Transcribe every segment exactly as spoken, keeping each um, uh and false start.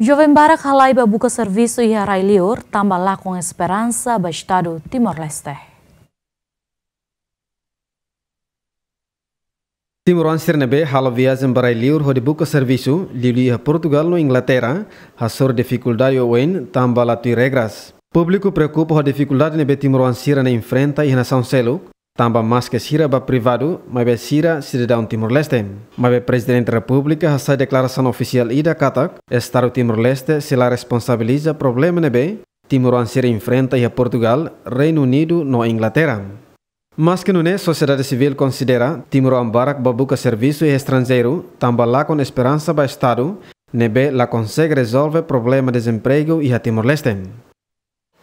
Joven barak halai ba buka servisu iha rai-liur, tanba lakon esperansa ba Estadu Timor-Leste. Timoroan sira ne'ebé halo viajen ba rai-liur hodi buka servisu, liuliu iha Portugal no Inglaterra, hasoru difikuldade oioin tanba la tuir regras. Públiku preokupa ho difikuldade ne'ebé timoroan sira-ne'e enfrenta iha nasaun seluk, tanba maske sira ba privadu, maibé sira sidadaun Timor-Leste. Maibé Prezidente Repúblika hasai deklarasaun ofisiál ida katak, Estadu Timor-Leste sei la responsabiliza problema ne'ebé timoroan sira enfrenta iha Portugal, Reinu Unidu no Inglaterra. Maske nune'e, sosiedade sivíl konsidera timoroan barak ba buka servisu iha estranjeiru, tanba lakon esperansa ba Estadu, ne'ebé la konsege rezolve problema dezempregu iha Timor-Leste.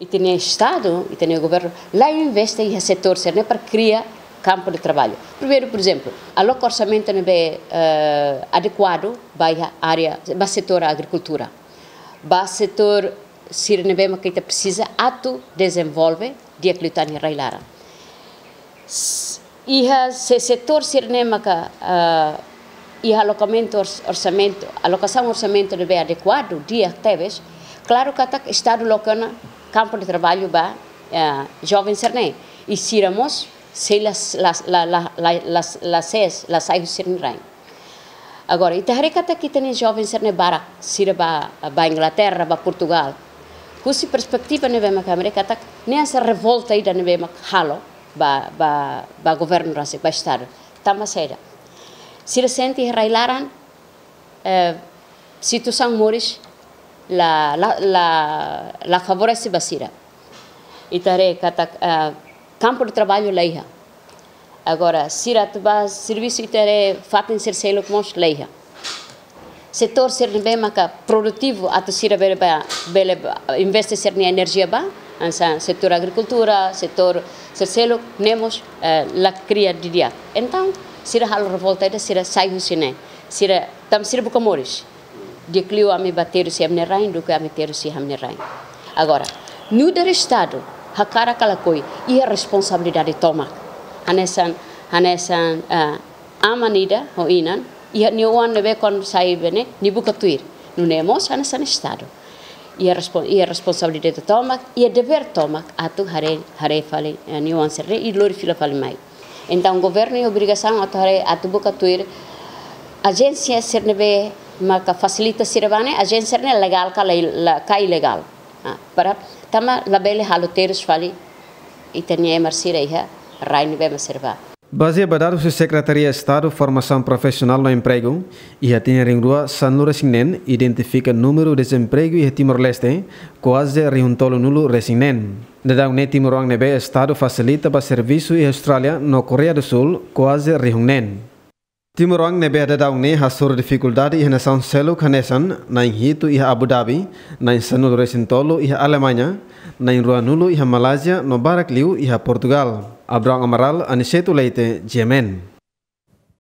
Ita-nia Estadu, ita-nia governu, la investe iha setór sira-ne'e para kria kampu de traballu. Primeiru, por ezemplu, aloka orsamentu ne'ebé, eh, adekuadu ba iha área, ba setór agrikultura. Ba setór sira ne'ebé maka ita presiza atu dezenvolve di'ak liután iha rai-laran. S-, iha se-, setór sira-ne'e maka, ah, iha alokamentu ors-, orsamentu, alokasaun orsamentu ne'ebé adekuadu, di'ak tebes, klaru katak Estadu loke ona kampu de traballu ba, ah, joven sira-ne'e. I sira mós sei la, la, la sees, la sai husi sira-nia rain. Agora, ita haree katak ita-nia joven sira-ne'e barak, sira ba, ba Inglaterra, ba Portugal. Husi perspetiva ne'ebé mak ami haree katak, ne'e hanesan revolta ida ne'ebé mak halo ba, ba, ba governu rasik, ba Estadu. Tanba saida? Sira sente iha rai-laran, eh, situasaun moris la, la, la, la favorese ba sira. Ita haree katak, eh, kampu de traballu la iha. Agora, sira atu ba servisu, ita haree fatin sira seluk mós la iha. Setór sira ne'ebé maka produtivu atu sira bele ba, bele ba, investe sira-nia enerjia ba, hanesan setór agrikultura, setór sira seluk, ne'e mós, eh, la kria didi'ak. Entaun, sira halo revolta ida, sira sai husi ne'e. Sira, tanba sira buka moris. Di'ak liu ami ba terus iha ami-nia rain, duké ami terus iha ami-nia rain. Agora, nu'udar Estadu, hakarak ka lakohi, iha responsabilidade tomak. Hanesan, hanesan, eh, aman ida ho inan, iha nia oan ne'ebé kuandu sai bene, nia buka tuir. Nune'e mós hanesan Estadu. Iha respon-, iha responsabilidade tomak, iha devér tomak atu haree, haree fali, eh, nia oan sira-ne'e, i lori fila fali mai. Entaun, governu iha obrigasaun atu haree, atu buka tuir ajénsia sira ne'ebé maka fasilita sira ba ne'e, ajénsia ne'e legál ka la, la, ka ilegál. Ah, para tanba labele halo terus fali ita-nia ema sira iha rai ne'ebé mak sira ba. Bazeia ba dadus husi Sekretaria Estadu Formasaun Profisionál no Empregu, iha tinan rihun rua sanulu-resin-neen identifika númeru dezempregu iha Timor-Leste kuaze rihun tolunulu-resin-neen. Daudaun ne'e timoroan ne'ebé Estadu fasilita ba servisu iha Austrália no Koreia do Sul kuaze rihun neen. Timoroan ne'ebé daudaun ne'e hasoru difikuldade iha nasaun seluk hanesan na'in hitu iha Abu Dhabi, na'in sanulu-resin-tolu iha Alemaña, na'in ruanulu iha Malázia no barak liu iha Portugal. Abrão Amaral, Aniceto Leite, G M N.